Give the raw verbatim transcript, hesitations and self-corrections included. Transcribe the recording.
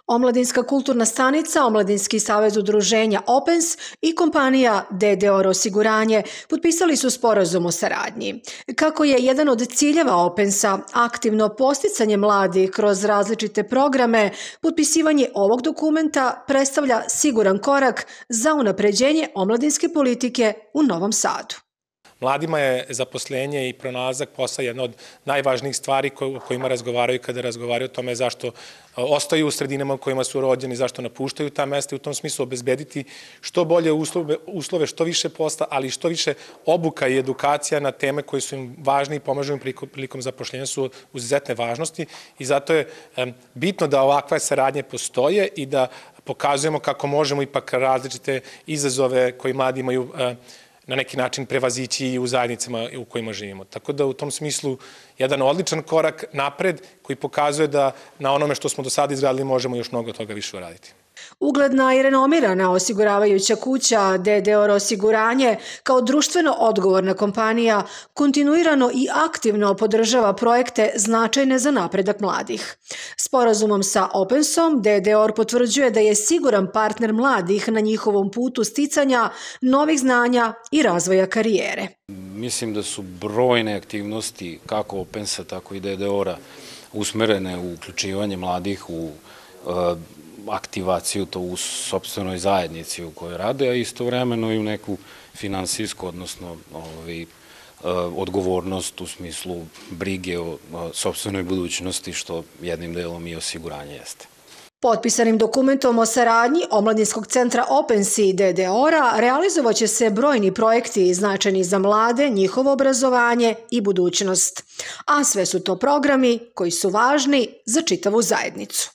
Omladinska kulturna stanica, Omladinski savez udruženja Opens i kompanija D D O R osiguranje potpisali su sporazum o saradnji. Kako je jedan od ciljeva Opensa aktivno posticanje mladih kroz različite programe, potpisivanje ovog dokumenta predstavlja siguran korak za unapređenje omladinske politike u Novom Sadu. Mladima je zaposlenje i pronalazak posla jedna od najvažnijih stvari o kojima razgovaraju kada razgovaraju o tome zašto ostaju u sredinama u kojima su rođeni, zašto napuštaju ta mesta i u tom smislu obezbediti što bolje uslove, uslove, što više posla, ali i što više obuka i edukacija na teme koje su im važne i pomažu im prilikom zapošljenja su izuzetne važnosti i zato je bitno da ovakve saradnje postoje i da pokazujemo kako možemo ipak različite izazove koje mladi imaju na neki način prevazići i u zajednicama u kojima živimo. Tako da u tom smislu jedan odličan korak napred koji pokazuje da na onome što smo do sada izgradili možemo još mnogo toga više uraditi. Ugledna i renomirana osiguravajuća kuća D D O R osiguranje kao društveno odgovorna kompanija kontinuirano i aktivno podržava projekte značajne za napredak mladih. Sporazumom sa Opensom D D O R potvrđuje da je siguran partner mladih na njihovom putu sticanja novih znanja i razvoja karijere. Mislim da su brojne aktivnosti kako Opensa, tako i D D O R-a usmerene u uključivanje mladih u aktivaciju to u sopstvenoj zajednici u kojoj rade, a istovremeno i u neku finansijsku, odnosno odgovornost u smislu brige o sopstvenoj budućnosti, što jednim delom i osiguranje jeste. Potpisanim dokumentom o saradnji Omladinskog centra Opens i D D O R-a realizovaće se brojni projekti značajni za mlade, njihovo obrazovanje i budućnost. A sve su to programi koji su važni za čitavu zajednicu.